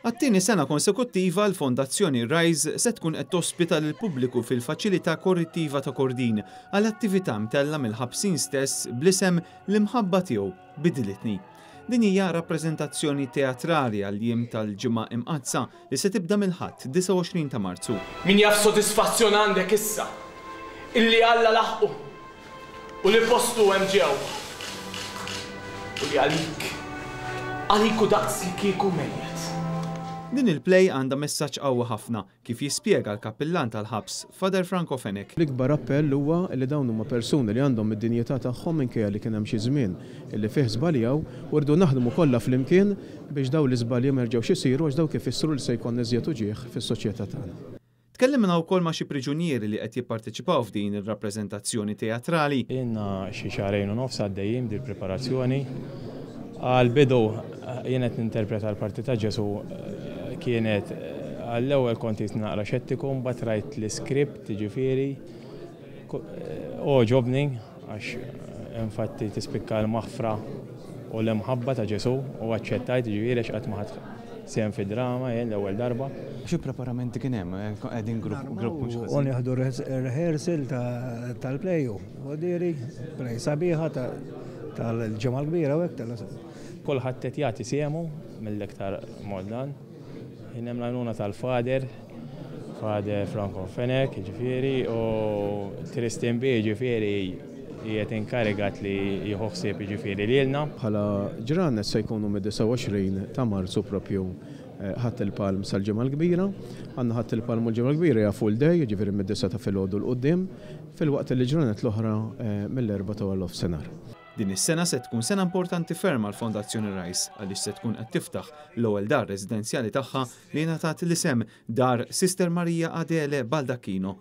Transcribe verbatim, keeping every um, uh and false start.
Għat-tieni sena konsekuttiva, l-Fondazzjoni Rise se tkun qed tospita lil pubbliku fil-faċilità korrettiva ta' Kordin għal attività mtella mill-ħabsin stess bl-isem "L-Imħabba Tiegħu Bidlitni". Din hija rappreżentazzjoni teatrali għal jiem tal-Ġimgħa Imqaddsa li se tibda mill-Ħadd disgħa u għoxrin ta' Marzu. Min jaf sodisfazzjon għandek issa illi Alla laħqu u li postu hemm ġewwa. U li għalik, għalik hu daqs li kieku mejjet. Din il-play għandha messaġġ qawwi ħafna, kif jispjega l-kappillan tal-ħabs, Father Franco Fenech. L-ikbar appell huwa li dawn huma persuni li għandhom id-dinjità tagħhom, minkejja li kien hemm xi żmien illi fih żbaljaw, u rridu naħdmu kollha flimkien biex dawn l-iżbalji ma jerġgħux isiru, għax dawk ifissru li se jkun iżjed uġigħ fis-soċjetà tagħna. Tkellimna wkoll ma' xi priġunieri li qed jipparteċipaw f'din ir-rappreżentazzjoni teatrali. Ilna xi xahrejn u nofs għaddejjin dil-preparazzjoni. Għal-bidu jien qed ninterpreta l-parti ta' Ġesu. Kienet għall-ewwel kont naqra xettiku, mbagħad rajt l-iskript, ġifieri għoġobni, għax infatti tispikka l-maħfra u l-imħabba ta' Ġesu, u aċċettajt, ġifieri għax qatt ma ħadt sehem fi drama, jien l-ewwel darba. Xi preparamenti kien hemm? Qegħdin grupp grupp mhux U nieħdu rehearsal tal-play u diri, play sabiħa tal-Ġimgħa l-Kbira u hekk. Kulħadd qed jagħti sehmu mill-iktar mod dan. Kien hemm l-għajnuna tal-Father, Father Franco Fenech, ġifieri, u Tristan B, ġifieri, qiegħed inkarigat li jieħu ħsieb, ġifieri, lilna. Bħala ġranet se jkunu mid-disgħa u għoxrin ta' Marzu, propju Ħadd il-Palm, sal-Ġimgħa l-Kbira. Għandna Ħadd il-Palm u l-Ġimgħa l-Kbira hija full day, ġifieri mid-disgħa ta' filgħodu 'l quddiem, filwaqt li ġranet l-oħra mill-erbgħa ta' nofsinhar. Din is-sena se tkun sena importanti ferm għal Fondazzjoni Rise, għaliex se tkun qed tiftaħ l-ewwel dar residenzjali tagħha li ngħatat l-isem Dar Sister Maria Adele Baldacchino.